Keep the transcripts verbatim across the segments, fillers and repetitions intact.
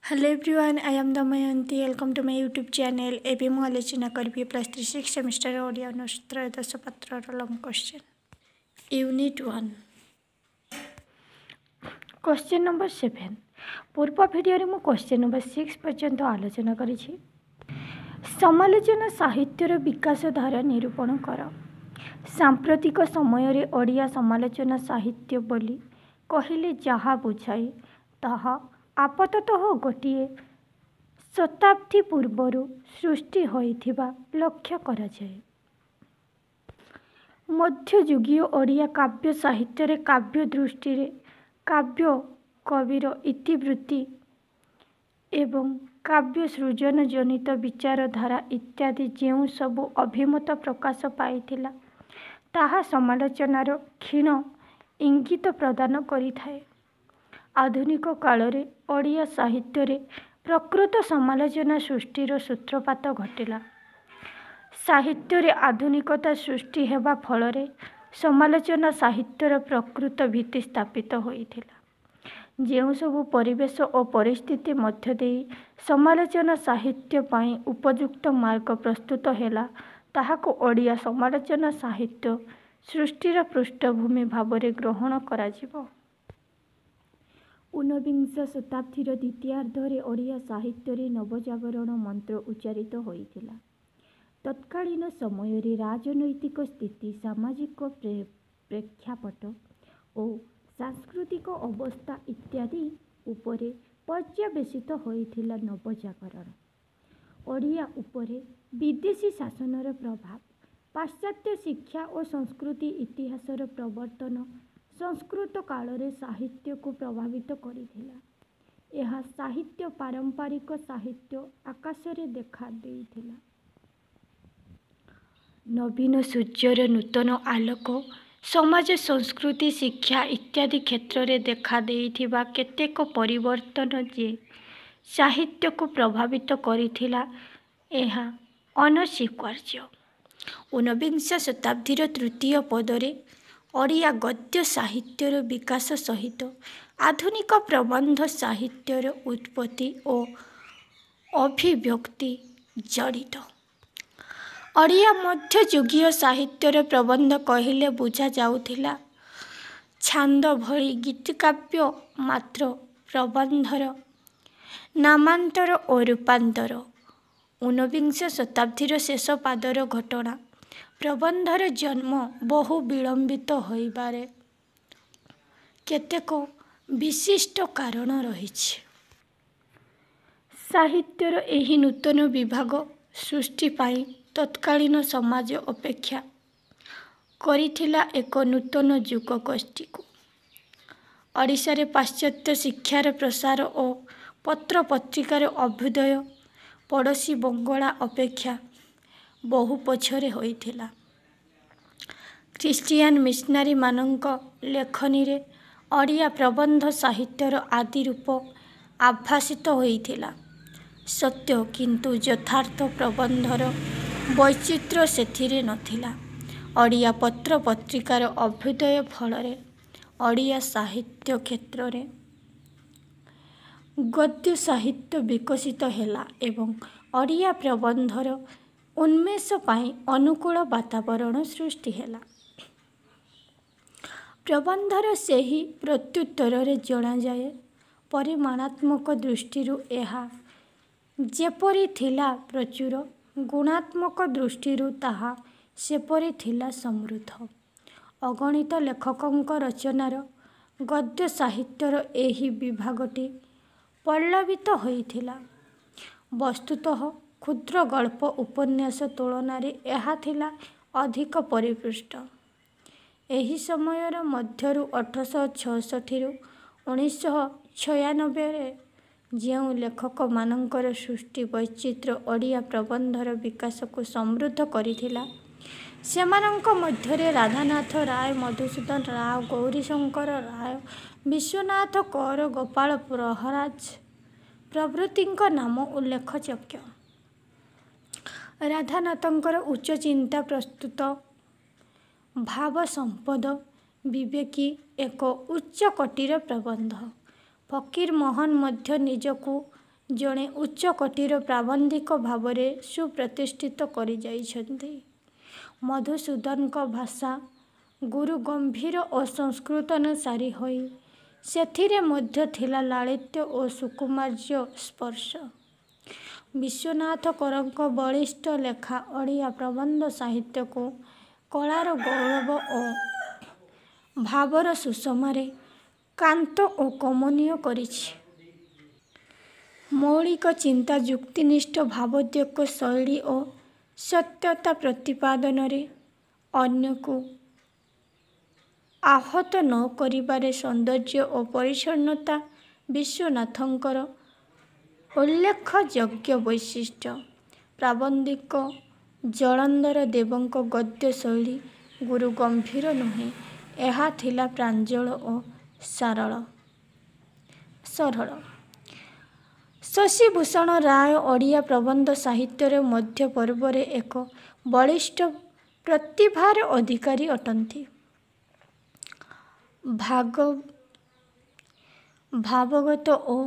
Hello everyone, I am Damayanti. Welcome to my YouTube channel. ଏବେ ମୁଁ ଆଲୋଚନା କରିବି plus three six semester Odia honours ତ୍ରୟୋଦଶ ପତ୍ରର long question unit one question number seven ପୂର୍ବ ଭିଡ଼ିଓରେ ମୁଁ କ୍ୱେଶ୍ଚନ୍ ନମ୍ବର ସିକ୍ସ ପର୍ଯ୍ୟନ୍ତ ଆଲୋଚନା କରିଛି ସମାଲୋଚନା ସାହିତ୍ୟର ବିକାଶ ଧାରା ନିରୂପଣ କର ସାମ୍ପ୍ରତିକ ସମୟରେ ଓଡ଼ିଆ ସମାଲୋଚନା ସାହିତ୍ୟ ବୋଲି କହିଲେ ଯାହା ବୁଝାଏ ତାହା ଆପାତତଃ ଗୋଟିଏ ଶତାବ୍ଦୀ ପୂର୍ବରୁ ସୃଷ୍ଟି ହୋଇଥିବା ଲକ୍ଷ୍ୟ କରାଯାଏ। ମଧ୍ୟଯୁଗୀୟ ଓଡ଼ିଆ କାବ୍ୟ ସାହିତ୍ୟରେ କାବ୍ୟ ଦୃଷ୍ଟିରେ କାବ୍ୟ କବିର ଇତିବୃତ୍ତି ଏବଂ କାବ୍ୟ ସୃଜନ ଜନିତ ବିଚାରଧାରା ଇତ୍ୟାଦି ଯେଉଁ ସବୁ ଅଭିମତ ପ୍ରକାଶ ପାଇଥିଲା ତାହା ସମାଲୋଚନାର କ୍ଷୀଣ ଇଙ୍ଗିତ ପ୍ରଦାନ କରିଥାଏ। ଆଧୁନିକ କାଳରେ ଓଡ଼ିଆ ସାହିତ୍ୟରେ ପ୍ରକୃତ ସମାଲୋଚନା ସୃଷ୍ଟିର ସୂତ୍ରପାତ ଘଟିଲା। ସାହିତ୍ୟରେ ଆଧୁନିକତା ସୃଷ୍ଟି ହେବା ଫଳରେ ସମାଲୋଚନା ସାହିତ୍ୟର ପ୍ରକୃତ ଭିତ୍ତି ସ୍ଥାପିତ ହୋଇଥିଲା। ଯେଉଁସବୁ ପରିବେଶ ଓ ପରିସ୍ଥିତି ମଧ୍ୟ ଦେଇ ସମାଲୋଚନା ସାହିତ୍ୟ ପାଇଁ ଉପଯୁକ୍ତ ମାର୍ଗ ପ୍ରସ୍ତୁତ ହେଲା ତାହାକୁ ଓଡ଼ିଆ ସମାଲୋଚନା ସାହିତ୍ୟ ସୃଷ୍ଟିର ପୃଷ୍ଠଭୂମି ଭାବରେ ଗ୍ରହଣ କରାଯିବ। ଊନବିଂଶ ଶତାବ୍ଦୀର ଦ୍ୱିତୀୟାର୍ଦ୍ଧରେ ଓଡ଼ିଆ ସାହିତ୍ୟରେ ନବଜାଗରଣ ମନ୍ତ୍ର ଉଚ୍ଚାରିତ ହୋଇଥିଲା। ତତ୍କାଳୀନ ସମୟରେ ରାଜନୈତିକ ସ୍ଥିତି, ସାମାଜିକ ପ୍ରେକ୍ଷାପଟ ଓ ସାଂସ୍କୃତିକ ଅବସ୍ଥା ଇତ୍ୟାଦି ଉପରେ ପର୍ଯ୍ୟବସିତ ହୋଇଥିଲା ନବଜାଗରଣ। ଓଡ଼ିଆ ଉପରେ ବିଦେଶୀ ଶାସନର ପ୍ରଭାବ, ପାଶ୍ଚାତ୍ୟ ଶିକ୍ଷା ଓ ସଂସ୍କୃତି ଇତିହାସର ପ୍ରବର୍ତ୍ତନ ସଂସ୍କୃତ କାଳରେ ସାହିତ୍ୟକୁ ପ୍ରଭାବିତ କରିଥିଲା। ଏହା ସାହିତ୍ୟ ପାରମ୍ପରିକ ସାହିତ୍ୟ ଆକାରରେ ଦେଖା ଦେଇଥିଲା। ନବୀନ ସୂର୍ଯ୍ୟର ନୂତନ ଆଲୋକ ସମାଜ, ସଂସ୍କୃତି, ଶିକ୍ଷା ଇତ୍ୟାଦି କ୍ଷେତ୍ରରେ ଦେଖା ଦେଇଥିବା କେତେକ ପରିବର୍ତ୍ତନ ଯେ ସାହିତ୍ୟକୁ ପ୍ରଭାବିତ କରିଥିଲା ଏହା ଅନସ୍ୱୀକାର୍ଯ୍ୟ। ଊନବିଂଶ ଶତାବ୍ଦୀର ତୃତୀୟ ପାଦରେ ଓଡ଼ିଆ ଗଦ୍ୟ ସାହିତ୍ୟର ବିକାଶ ସହିତ ଆଧୁନିକ ପ୍ରବନ୍ଧ ସାହିତ୍ୟର ଉତ୍ପତ୍ତି ଓ ଅଭିବ୍ୟକ୍ତି ଜଡ଼ିତ। ଓଡ଼ିଆ ମଧ୍ୟଯୁଗୀୟ ସାହିତ୍ୟରେ ପ୍ରବନ୍ଧ କହିଲେ ବୁଝାଯାଉଥିଲା ଛାନ୍ଦ ଭଳି ଗୀତିକାବ୍ୟ ମାତ୍ର ପ୍ରବନ୍ଧର ନାମାନ୍ତର ଓ ରୂପାନ୍ତର ଊନବିଂଶ ଶତାବ୍ଦୀର ଶେଷ ପାଦର ଘଟଣା। ପ୍ରବନ୍ଧର ଜନ୍ମ ବହୁ ବିଳମ୍ବିତ ହୋଇବାର କେତେକ ବିଶିଷ୍ଟ କାରଣ ରହିଛି। ସାହିତ୍ୟର ଏହି ନୂତନ ବିଭାଗ ସୃଷ୍ଟି ପାଇଁ ତତ୍କାଳୀନ ସମାଜ ଅପେକ୍ଷା କରିଥିଲା ଏକ ନୂତନ ଯୁଗଗୋଷ୍ଠୀକୁ। ଓଡ଼ିଶାରେ ପାଶ୍ଚାତ୍ୟ ଶିକ୍ଷାର ପ୍ରସାର ଓ ପତ୍ରପତ୍ରିକାର ଅଭ୍ୟୁଦୟ ପଡ଼ୋଶୀ ବଙ୍ଗଳା ଅପେକ୍ଷା ବହୁ ପଛରେ ହୋଇଥିଲା। ଖ୍ରୀଷ୍ଟିଆନ ମିଶନାରୀମାନଙ୍କ ଲେଖନୀରେ ଓଡ଼ିଆ ପ୍ରବନ୍ଧ ସାହିତ୍ୟର ଆଦି ରୂପ ଆଭାସିତ ହୋଇଥିଲା ସତ୍ୟ, କିନ୍ତୁ ଯଥାର୍ଥ ପ୍ରବନ୍ଧର ବୈଚିତ୍ର୍ୟ ସେଥିରେ ନଥିଲା। ଓଡ଼ିଆ ପତ୍ରପତ୍ରିକାର ଅଭ୍ୟୁଦୟ ଫଳରେ ଓଡ଼ିଆ ସାହିତ୍ୟ କ୍ଷେତ୍ରରେ ଗଦ୍ୟ ସାହିତ୍ୟ ବିକଶିତ ହେଲା ଏବଂ ଓଡ଼ିଆ ପ୍ରବନ୍ଧର ଉନ୍ମେଷ ପାଇଁ ଅନୁକୂଳ ବାତାବରଣ ସୃଷ୍ଟି ହେଲା। ପ୍ରବନ୍ଧର ସେହି ପ୍ରତ୍ୟୁତ୍ତରରେ ଜଣାଯାଏ ପରିମାଣାତ୍ମକ ଦୃଷ୍ଟିରୁ ଏହା ଯେପରି ଥିଲା ପ୍ରଚୁର, ଗୁଣାତ୍ମକ ଦୃଷ୍ଟିରୁ ତାହା ସେପରି ଥିଲା ସମୃଦ୍ଧ। ଅଗଣିତ ଲେଖକଙ୍କ ରଚନାରେ ଗଦ୍ୟ ସାହିତ୍ୟର ଏହି ବିଭାଗଟି ପଲ୍ଲବିତ ହୋଇଥିଲା। ବସ୍ତୁତଃ କ୍ଷୁଦ୍ରଗଳ୍ପ ଉପନ୍ୟାସ ତୁଳନାରେ ଏହା ଥିଲା ଅଧିକ ପରିପୁଷ୍ଟ। ଏହି ସମୟ ମଧ୍ୟରୁ ଅଠରଶହ ଛଅଷଠିରୁ ଉଣେଇଶଶହ ଛୟାନବେରେ ଯେଉଁ ଲେଖକମାନଙ୍କର ସୃଷ୍ଟି ବୈଚିତ୍ର୍ୟ ଓଡ଼ିଆ ପ୍ରବନ୍ଧର ବିକାଶକୁ ସମୃଦ୍ଧ କରିଥିଲା ସେମାନଙ୍କ ମଧ୍ୟରେ ରାଧାନାଥ ରାୟ, ମଧୁସୂଦନ ରାଓ, ଗୌରୀଶଙ୍କର ରାୟ, ବିଶ୍ୱନାଥ କର, ଗୋପାଳ ପ୍ରହରାଜ ପ୍ରଭୃତିଙ୍କ ନାମ ଉଲ୍ଲେଖଯୋଗ୍ୟ। ରାଧାନାଥଙ୍କର ଉଚ୍ଚଚିନ୍ତା ପ୍ରସୂତ ଭାବସମ୍ପଦ ବିବେକୀ ଏକ ଉଚ୍ଚକୋଟୀର ପ୍ରବନ୍ଧ। ଫକୀରମୋହନ ମଧ୍ୟ ନିଜକୁ ଜଣେ ଉଚ୍ଚକୋଟୀର ପ୍ରାବନ୍ଧିକ ଭାବରେ ସୁପ୍ରତିଷ୍ଠିତ କରିଯାଇଛନ୍ତି। ମଧୁସୂଦନଙ୍କ ଭାଷା ଗୁରୁଗମ୍ଭୀର ଓ ସଂସ୍କୃତାନୁସାରୀ ହୋଇ ସେଥିରେ ମଧ୍ୟ ଥିଲା ଲାଳିତ୍ୟ ଓ ସୌକୁମାର୍ଯ୍ୟର ସ୍ପର୍ଶ। ବିଶ୍ୱନାଥ କରଙ୍କ ବଳିଷ୍ଠ ଲେଖା ଓଡ଼ିଆ ପ୍ରବନ୍ଧ ସାହିତ୍ୟକୁ କଳାର ଗୌରବ ଓ ଭାବର ସୁଷମାରେ କାନ୍ତ ଓ କମନୀୟ କରିଛି। ମୌଳିକ ଚିନ୍ତା, ଯୁକ୍ତିନିଷ୍ଠ ଭାବୋଦ୍ରେକ ଶୈଳୀ ଓ ସତ୍ୟତା ପ୍ରତିପାଦନରେ ଅନ୍ୟକୁ ଆହତ ନ କରିବାରେ ସୌନ୍ଦର୍ଯ୍ୟ ଓ ପରିଚ୍ଛନ୍ନତା ବିଶ୍ୱନାଥଙ୍କର ଉଲ୍ଲେଖଯୋଗ୍ୟ ବୈଶିଷ୍ଟ୍ୟ। ପ୍ରାବନ୍ଧିକ ଜଳନ୍ଧର ଦେବଙ୍କ ଗଦ୍ୟ ଶୈଳୀ ଗୁରୁଗମ୍ଭୀର ନୁହେଁ, ଏହା ଥିଲା ପ୍ରାଞ୍ଜଳ ଓ ସରଳ। ଶଶିଭୂଷଣ ରାୟ ଓଡ଼ିଆ ପ୍ରବନ୍ଧ ସାହିତ୍ୟର ମଧ୍ୟପର୍ବରେ ଏକ ବଳିଷ୍ଠ ପ୍ରତିଭାର ଅଧିକାରୀ ଅଟନ୍ତି। ଭାବଗତ ଓ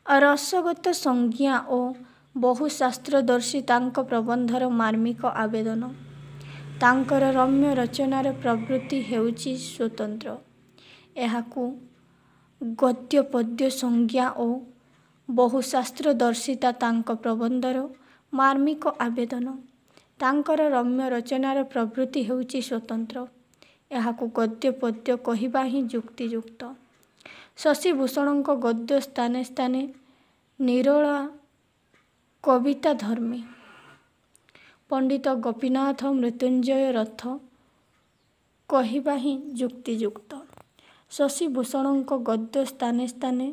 ରସଗତ ସଂଜ୍ଞା ଓ ବହୁଶାସ୍ତ୍ରଦର୍ଶିତା ତାଙ୍କ ପ୍ରବନ୍ଧର ମାର୍ମିକ ଆବେଦନ। ତାଙ୍କର ରମ୍ୟ ରଚନାର ପ୍ରବୃତ୍ତି ହେଉଛି ସ୍ୱତନ୍ତ୍ର। ଏହାକୁ ଗଦ୍ୟପଦ୍ୟ ସଂଜ୍ଞା ଓ ବହୁଶାସ୍ତ୍ରଦର୍ଶିତା ତାଙ୍କ ପ୍ରବନ୍ଧର ମାର୍ମିକ ଆବେଦନ। ତାଙ୍କର ରମ୍ୟ ରଚନାର ପ୍ରବୃତ୍ତି ହେଉଛି ସ୍ୱତନ୍ତ୍ର। ଏହାକୁ ଗଦ୍ୟପଦ୍ୟ କହିବା ହିଁ ଯୁକ୍ତିଯୁକ୍ତ। ଶଶିଭୂଷଣଙ୍କ ଗଦ୍ୟ ସ୍ଥାନେ ସ୍ଥାନେ ନିରୋଳା କବିତାଧର୍ମୀ। ପଣ୍ଡିତ ଗୋପୀନାଥ ମୃତ୍ୟୁଞ୍ଜୟ ରଥ କହିବା ହିଁ ଯୁକ୍ତିଯୁକ୍ତ। ଶଶିଭୂଷଣଙ୍କ ଗଦ୍ୟ ସ୍ଥାନେ ସ୍ଥାନେ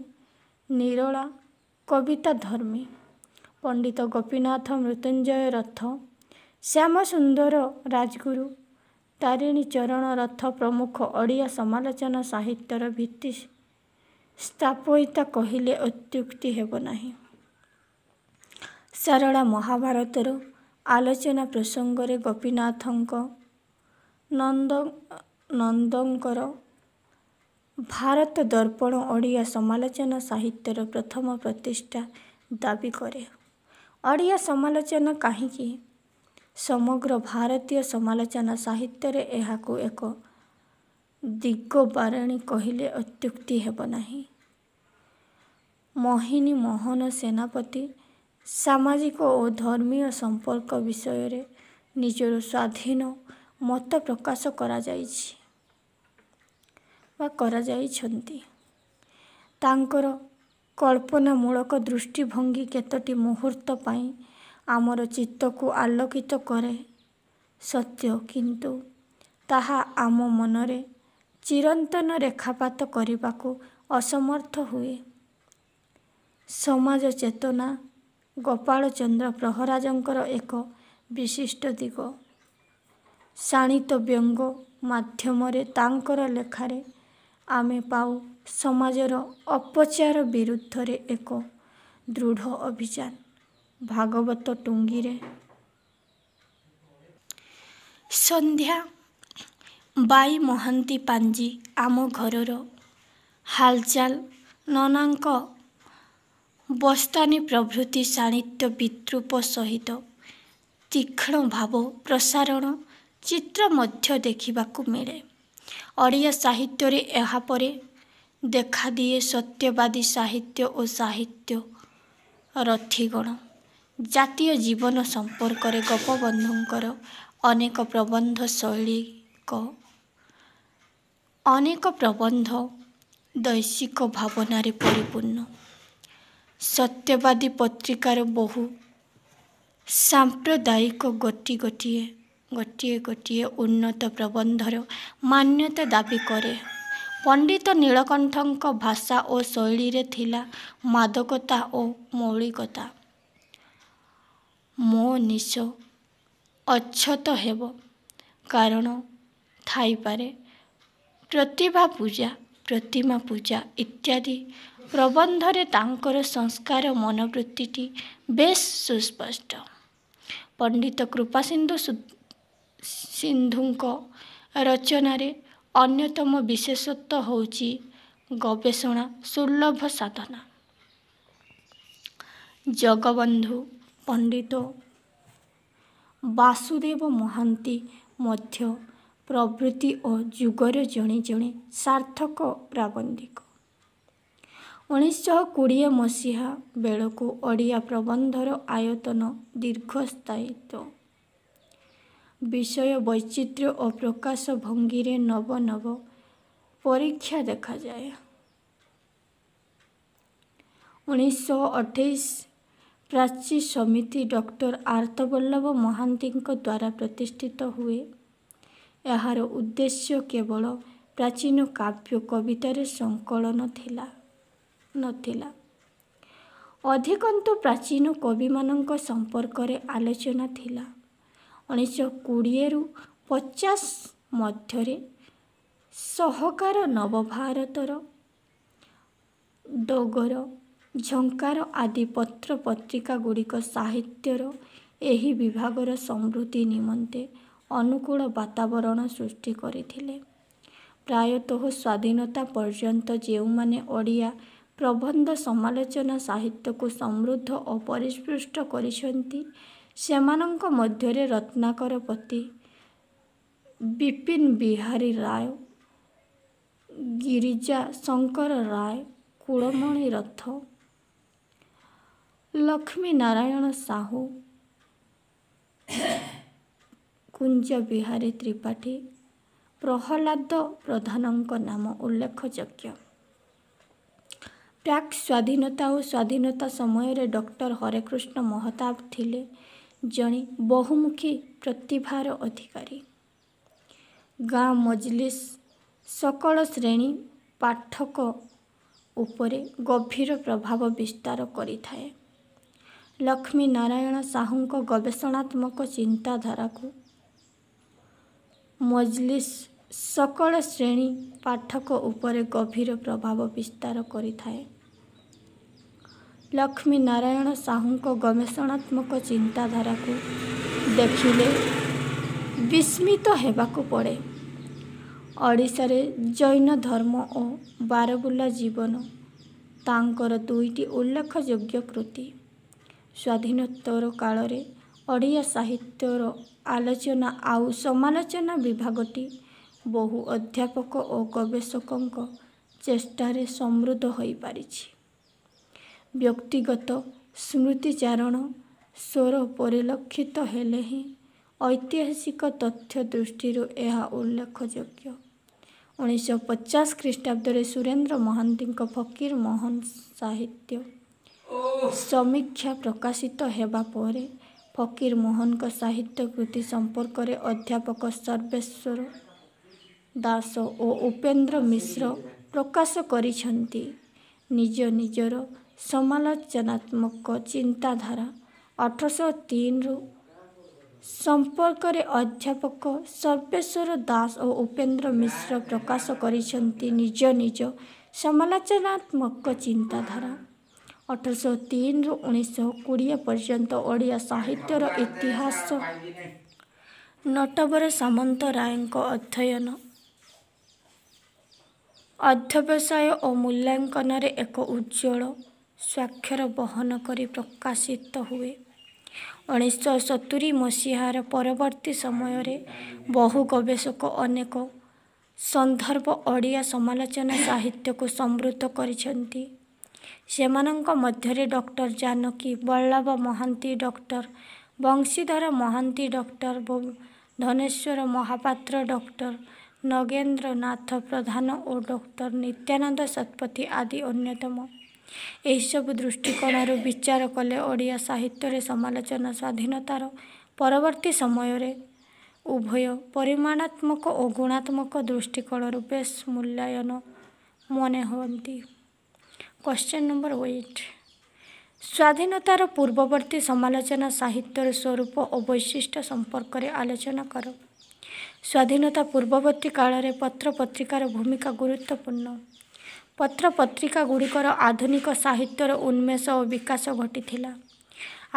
ନିରୋଳା କବିତାଧର୍ମୀ। ପଣ୍ଡିତ ଗୋପୀନାଥ ମୃତ୍ୟୁଞ୍ଜୟ ରଥ, ଶ୍ୟାମସୁନ୍ଦର ରାଜଗୁରୁ, ତାରିଣୀ ଚରଣ ରଥ ପ୍ରମୁଖ ଓଡ଼ିଆ ସମାଲୋଚନା ସାହିତ୍ୟର ଭିତ୍ତି ସ୍ଥାପୟିତା କହିଲେ ଅତ୍ୟୁକ୍ତି ହେବ ନାହିଁ। ସାରଳା ମହାଭାରତର ଆଲୋଚନା ପ୍ରସଙ୍ଗରେ ଗୋପୀନାଥ ନନ୍ଦଙ୍କର ଭାରତ ଦର୍ପଣ ଓଡ଼ିଆ ସମାଲୋଚନା ସାହିତ୍ୟର ପ୍ରଥମ ପ୍ରତିଷ୍ଠା ଦାବି କରେ। ଓଡ଼ିଆ ସମାଲୋଚନା କାହିଁକି, ସମଗ୍ର ଭାରତୀୟ ସମାଲୋଚନା ସାହିତ୍ୟରେ ଏହାକୁ ଏକ ଦିଗବାରେଣୀ କହିଲେ ଅତ୍ୟୁକ୍ତି ହେବ ନାହିଁ। ମୋହିନୀ ମୋହନ ସେନାପତି ସାମାଜିକ ଓ ଧର୍ମୀୟ ସମ୍ପର୍କ ବିଷୟରେ ନିଜର ସ୍ୱାଧୀନ ମତ ପ୍ରକାଶ କରାଯାଇଛି ବା କରାଯାଇଛନ୍ତି। ତାଙ୍କର କଳ୍ପନାମୂଳକ ଦୃଷ୍ଟିଭଙ୍ଗୀ କେତୋଟି ମୁହୂର୍ତ୍ତ ପାଇଁ ଆମର ଚିତ୍ତକୁ ଆଲୋକିତ କରେ ସତ୍ୟ, କିନ୍ତୁ ତାହା ଆମ ମନରେ ଚିରନ୍ତନ ରେଖାପାତ କରିବାକୁ ଅସମର୍ଥ ହୁଏ। ସମାଜ ଚେତନା ଗୋପାଳ ଚନ୍ଦ୍ର ପ୍ରହରାଜଙ୍କର ଏକ ବିଶିଷ୍ଟ ଦିଗ। ଶାଣିତ ବ୍ୟଙ୍ଗ ମାଧ୍ୟମରେ ତାଙ୍କର ଲେଖାରେ ଆମେ ପାଉ ସମାଜର ଅପଚାର ବିରୁଦ୍ଧରେ ଏକ ଦୃଢ଼ ଅଭିଯାନ। ଭାଗବତ ଟୁଙ୍ଗିରେ ସନ୍ଧ୍ୟା, ବାଇ ମହାନ୍ତି ପାଞ୍ଜି, ଆମ ଘରର ହାଲଚାଲ, ନନାଙ୍କ ବସ୍ତାନି ପ୍ରଭୃତି ଶାଣିତ ବିଦ୍ରୂପ ସହିତ ତୀକ୍ଷ୍ଣ ଭାବ ପ୍ରସାରର ଚିତ୍ର ମଧ୍ୟ ଦେଖିବାକୁ ମିଳେ। ଓଡ଼ିଆ ସାହିତ୍ୟରେ ଏହାପରେ ଦେଖାଦିଏ ସତ୍ୟବାଦୀ ସାହିତ୍ୟ ଓ ସାହିତ୍ୟ ରଥୀଗଣ। ଜାତୀୟ ଜୀବନ ସମ୍ପର୍କରେ ଗୋପବନ୍ଧୁଙ୍କର ଅନେକ ପ୍ରବନ୍ଧ ଶୈଳିକ, ଅନେକ ପ୍ରବନ୍ଧ ଦୈଶିକ ଭାବନାରେ ପରିପୂର୍ଣ୍ଣ। ସତ୍ୟବାଦୀ ପତ୍ରିକାର ବହୁ ସାମ୍ପାଦକୀୟ ଗୋଟି ଗୋଟିଏ ଗୋଟିଏ ଗୋଟିଏ ଉନ୍ନତ ପ୍ରବନ୍ଧର ମାନ୍ୟତା ଦାବି କରେ। ପଣ୍ଡିତ ନୀଳକଣ୍ଠଙ୍କ ଭାଷା ଓ ଶୈଳୀରେ ଥିଲା ମାଦକତା ଓ ମୌଳିକତା। ମୋ ନିଶ ଅଛତ ହେବ କାରଣ ଥାଇପାରେ, ପ୍ରତିଭା ପୂଜା, ପ୍ରତିମା ପୂଜା ଇତ୍ୟାଦି ପ୍ରବନ୍ଧରେ ତାଙ୍କର ସଂସ୍କାର ମନୋବୃତ୍ତିଟି ବେଶ୍ ସୁସ୍ପଷ୍ଟ। ପଣ୍ଡିତ କୃପାସିନ୍ଧୁ ସିନ୍ଧୁଙ୍କ ରଚନାରେ ଅନ୍ୟତମ ବିଶେଷତ୍ୱ ହେଉଛି ଗବେଷଣା ସୁଲଭ ସାଧନା। ଜଗବନ୍ଧୁ ପଣ୍ଡିତ, ବାସୁଦେବ ମହାନ୍ତି ମଧ୍ୟ ପ୍ରବୃତ୍ତି ଓ ଯୁଗର ଜଣେ ଜଣେ ସାର୍ଥକ ପ୍ରାବନ୍ଧିକ। ଉଣେଇଶହ କୋଡ଼ିଏ ମସିହା ବେଳକୁ ଓଡ଼ିଆ ପ୍ରବନ୍ଧର ଆୟତନ, ଦୀର୍ଘସ୍ଥାୟିତ୍ୱ, ବିଷୟ ବୈଚିତ୍ର୍ୟ ଓ ପ୍ରକାଶ ଭଙ୍ଗୀରେ ନବ ନବ ପରୀକ୍ଷା ଦେଖାଯାଏ। ଉଣେଇଶହ ଅଠେଇଶ ପ୍ରାଚୀ ସମିତି ଡକ୍ଟର ଆର୍ତ୍ତବଲ୍ଲଭ ମହାନ୍ତିଙ୍କ ଦ୍ୱାରା ପ୍ରତିଷ୍ଠିତ ହୁଏ। ଏହାର ଉଦ୍ଦେଶ୍ୟ କେବଳ ପ୍ରାଚୀନ କାବ୍ୟ କବିତାର ସଂକଳନ ଥିଲା ନଥିଲା, ଅଧିକନ୍ତୁ ପ୍ରାଚୀନ କବିମାନଙ୍କ ସମ୍ପର୍କରେ ଆଲୋଚନା ଥିଲା। ଉଣେଇଶହ କୋଡ଼ିଏରୁ ପଚାଶ ମଧ୍ୟରେ ସହକାର, ନବଭାରତର, ଡଗର, ଝଙ୍କାର ଆଦି ପତ୍ରପତ୍ରିକାଗୁଡ଼ିକ ସାହିତ୍ୟର ଏହି ବିଭାଗର ସମୃଦ୍ଧି ନିମନ୍ତେ ଅନୁକୂଳ ବାତାବରଣ ସୃଷ୍ଟି କରିଥିଲେ। ପ୍ରାୟତଃ ସ୍ୱାଧୀନତା ପର୍ଯ୍ୟନ୍ତ ଯେଉଁମାନେ ଓଡ଼ିଆ ପ୍ରବନ୍ଧ ସମାଲୋଚନା ସାହିତ୍ୟକୁ ସମୃଦ୍ଧ ଓ ପରିପୁଷ୍ଟ କରିଛନ୍ତି, ସେମାନଙ୍କ ମଧ୍ୟରେ ରତ୍ନାକର ପତି, ବିପିନ ବିହାରୀ ରାୟ, ଗିରିଜା ଶଙ୍କର ରାୟ, କୁଳମଣି ରଥ, ଲକ୍ଷ୍ମୀନାରାୟଣ ସାହୁ, କୁଞ୍ଜ ବିହାରୀ ତ୍ରିପାଠୀ, ପ୍ରହ୍ଲାଦ ପ୍ରଧାନଙ୍କ ନାମ ଉଲ୍ଲେଖଯୋଗ୍ୟ। ପ୍ରାକ୍ ସ୍ୱାଧୀନତା ଓ ସ୍ୱାଧୀନତା ସମୟରେ ଡକ୍ଟର ହରେକୃଷ୍ଣ ମହତାବ ଥିଲେ ଜଣେ ବହୁମୁଖୀ ପ୍ରତିଭାର ଅଧିକାରୀ। ଗାଁ ମଜଲିସ୍ ସକଳ ଶ୍ରେଣୀ ପାଠକ ଉପରେ ଗଭୀର ପ୍ରଭାବ ବିସ୍ତାର କରିଥାଏ। ଲକ୍ଷ୍ମୀନାରାୟଣ ସାହୁଙ୍କ ଗବେଷଣାତ୍ମକ ଚିନ୍ତାଧାରାକୁ ମଜଲିସ୍ ସକଳ ଶ୍ରେଣୀ ପାଠକ ଉପରେ ଗଭୀର ପ୍ରଭାବ ବିସ୍ତାର କରିଥାଏ। ଲକ୍ଷ୍ମୀନାରାୟଣ ସାହୁଙ୍କ ଗବେଷଣାତ୍ମକ ଚିନ୍ତାଧାରାକୁ ଦେଖିଲେ ବିସ୍ମିତ ହେବାକୁ ପଡ଼େ। ଓଡ଼ିଶାରେ ଜୈନ ଧର୍ମ ଓ ବାରବୁଲା ଜୀବନ ତାଙ୍କର ଦୁଇଟି ଉଲ୍ଲେଖଯୋଗ୍ୟ କୃତି। ସ୍ୱାଧୀନୋତ୍ତର କାଳରେ ଓଡ଼ିଆ ସାହିତ୍ୟର ଆଲୋଚନା ଆଉ ସମାଲୋଚନା ବିଭାଗଟି ବହୁ ଅଧ୍ୟାପକ ଓ ଗବେଷକଙ୍କ ଚେଷ୍ଟାରେ ସମୃଦ୍ଧ ହୋଇପାରିଛି। ବ୍ୟକ୍ତିଗତ ସ୍ମୃତିଚାରଣ ସ୍ୱର ପରିଲକ୍ଷିତ ହେଲେ ହେଁ ଐତିହାସିକ ତଥ୍ୟ ଦୃଷ୍ଟିରୁ ଏହା ଉଲ୍ଲେଖଯୋଗ୍ୟ। ଉଣେଇଶହ ପଚାଶ ଖ୍ରୀଷ୍ଟାବ୍ଦରେ ସୁରେନ୍ଦ୍ର ମହାନ୍ତିଙ୍କ ଫକୀରମୋହନ ସାହିତ୍ୟ ସମୀକ୍ଷା ପ୍ରକାଶିତ ହେବା ପରେ ଫକୀରମୋହନଙ୍କ ସାହିତ୍ୟ କୃତି ସମ୍ପର୍କରେ ଅଧ୍ୟାପକ ସର୍ବେଶ୍ୱର ଦାସ ଓ ଉପେନ୍ଦ୍ର ମିଶ୍ର ପ୍ରକାଶ କରିଛନ୍ତି ନିଜ ନିଜର ସମାଲୋଚନାତ୍ମକ ଚିନ୍ତାଧାରା। ଅଠରଶହ ତିନିରୁ ସମ୍ପର୍କରେ ଅଧ୍ୟାପକ ସର୍ବେଶ୍ୱର ଦାସ ଓ ଉପେନ୍ଦ୍ର ମିଶ୍ର ପ୍ରକାଶ କରିଛନ୍ତି ନିଜ ନିଜ ସମାଲୋଚନାତ୍ମକ ଚିନ୍ତାଧାରା। ଅଠରଶହ ତିନିରୁ ଉଣେଇଶହ କୋଡ଼ିଏ ପର୍ଯ୍ୟନ୍ତ ଓଡ଼ିଆ ସାହିତ୍ୟର ଇତିହାସ ନଟବର ସାମନ୍ତରାୟଙ୍କ ଅଧ୍ୟୟନ, ଅଧ୍ୟବସାୟ ଓ ମୂଲ୍ୟାଙ୍କନରେ ଏକ ଉଜ୍ଜ୍ୱଳ ସ୍ୱାକ୍ଷର ବହନ କରି ପ୍ରକାଶିତ ହୁଏ। ଉଣେଇଶହ ସତୁରି ମସିହାର ପରବର୍ତ୍ତୀ ସମୟରେ ବହୁ ଗବେଷକ ଅନେକ ସନ୍ଦର୍ଭ ଓଡ଼ିଆ ସମାଲୋଚନା ସାହିତ୍ୟକୁ ସମୃଦ୍ଧ କରିଛନ୍ତି। ସେମାନଙ୍କ ମଧ୍ୟରେ doctor Janaki Ballabh Mohanty, doctor Banshidhar Mohanty, doctor Dhaneswar Mohapatra, doctor Nagendranath Pradhan ଓ ଡକ୍ଟର ନିତ୍ୟାନନ୍ଦ ଶତପଥୀ ଆଦି ଅନ୍ୟତମ। ଏହିସବୁ ଦୃଷ୍ଟିକୋଣରୁ ବିଚାର କଲେ ଓଡ଼ିଆ ସାହିତ୍ୟରେ ସମାଲୋଚନା ସ୍ୱାଧୀନତାର ପରବର୍ତ୍ତୀ ସମୟରେ ଉଭୟ ପରିମାଣାତ୍ମକ ଓ ଗୁଣାତ୍ମକ ଦୃଷ୍ଟିକୋଣରୁ ବେଶ୍ ମୂଲ୍ୟାୟନ ମନେ ହୁଅନ୍ତି। କ୍ୱେଶ୍ଚନ୍ ନମ୍ବର ଏଇଟ୍, ସ୍ୱାଧୀନତାର ପୂର୍ବବର୍ତ୍ତୀ ସମାଲୋଚନା ସାହିତ୍ୟର ସ୍ୱରୂପ ଓ ବୈଶିଷ୍ଟ୍ୟ ସମ୍ପର୍କରେ ଆଲୋଚନା କର। ସ୍ୱାଧୀନତା ପୂର୍ବବର୍ତ୍ତୀ କାଳରେ ପତ୍ରପତ୍ରିକାର ଭୂମିକା ଗୁରୁତ୍ୱପୂର୍ଣ୍ଣ। ପତ୍ରପତ୍ରିକାଗୁଡ଼ିକର ଆଧୁନିକ ସାହିତ୍ୟର ଉନ୍ମେଷ ଓ ବିକାଶ ଘଟିଥିଲା।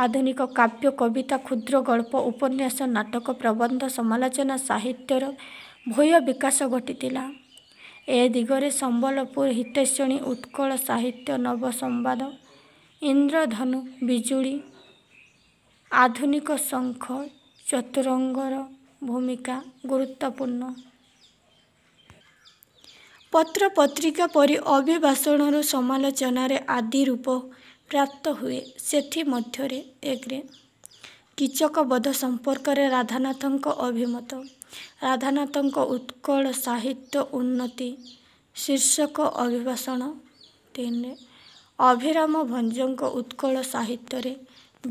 ଆଧୁନିକ କାବ୍ୟ, କବିତା, କ୍ଷୁଦ୍ର ଗଳ୍ପ, ଉପନ୍ୟାସ, ନାଟକ, ପ୍ରବନ୍ଧ, ସମାଲୋଚନା ସାହିତ୍ୟର ଭୂୟ ବିକାଶ ଘଟିଥିଲା। ଏ ଦିଗରେ ସମ୍ବଲପୁର ହିତୈଷିଣୀ, ଉତ୍କଳ ସାହିତ୍ୟ, ନବସମ୍ବାଦ, ଇନ୍ଦ୍ରଧନୁ, ବିଜୁଳି, ଆଧୁନିକ ଶଙ୍ଖ, ଚତୁରଙ୍ଗର ଭୂମିକା ଗୁରୁତ୍ୱପୂର୍ଣ୍ଣ। ପତ୍ରପତ୍ରିକା ପରି ଅଭିଭାଷଣରୁ ସମାଲୋଚନାରେ ଆଦି ରୂପ ପ୍ରାପ୍ତ ହୁଏ। ସେଥିମଧ୍ୟରେ ଏକରେ କୀଚକବଧ ସମ୍ପର୍କରେ ରାଧାନାଥଙ୍କ ଅଭିମତ, ରାଧାନାଥଙ୍କ ଉତ୍କଳ ସାହିତ୍ୟ ଉନ୍ନତି ଶୀର୍ଷକ ଅଭିଭାଷଣ, ତିନିରେ ଅଭିରାମ ଭଞ୍ଜଙ୍କ ଉତ୍କଳ ସାହିତ୍ୟରେ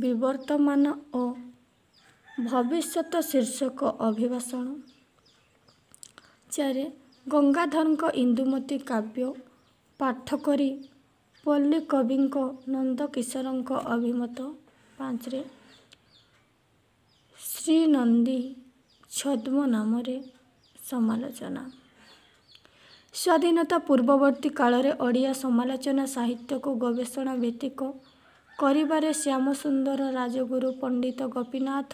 ବିବର୍ତ୍ତମାନ ଓ ଭବିଷ୍ୟତ ଶୀର୍ଷକ ଅଭିଭାଷଣ, ଚାରିରେ ଗଙ୍ଗାଧରଙ୍କ ଇନ୍ଦୁମତୀ କାବ୍ୟ ପାଠ କରି ପଲ୍ଲୀକବିଙ୍କ ନନ୍ଦକିଶୋରଙ୍କ ଅଭିମତ, ପାଞ୍ଚରେ ଶ୍ରୀନନ୍ଦୀ ଛଦ୍ମନାମରେ ସମାଲୋଚନା। ସ୍ୱାଧୀନତା ପୂର୍ବବର୍ତ୍ତୀ କାଳରେ ଓଡ଼ିଆ ସମାଲୋଚନା ସାହିତ୍ୟକୁ ଗବେଷଣା ଭିତ୍ତିକ କରିବାରେ ଶ୍ୟାମସୁନ୍ଦର ରାଜଗୁରୁ, ପଣ୍ଡିତ ଗୋପୀନାଥ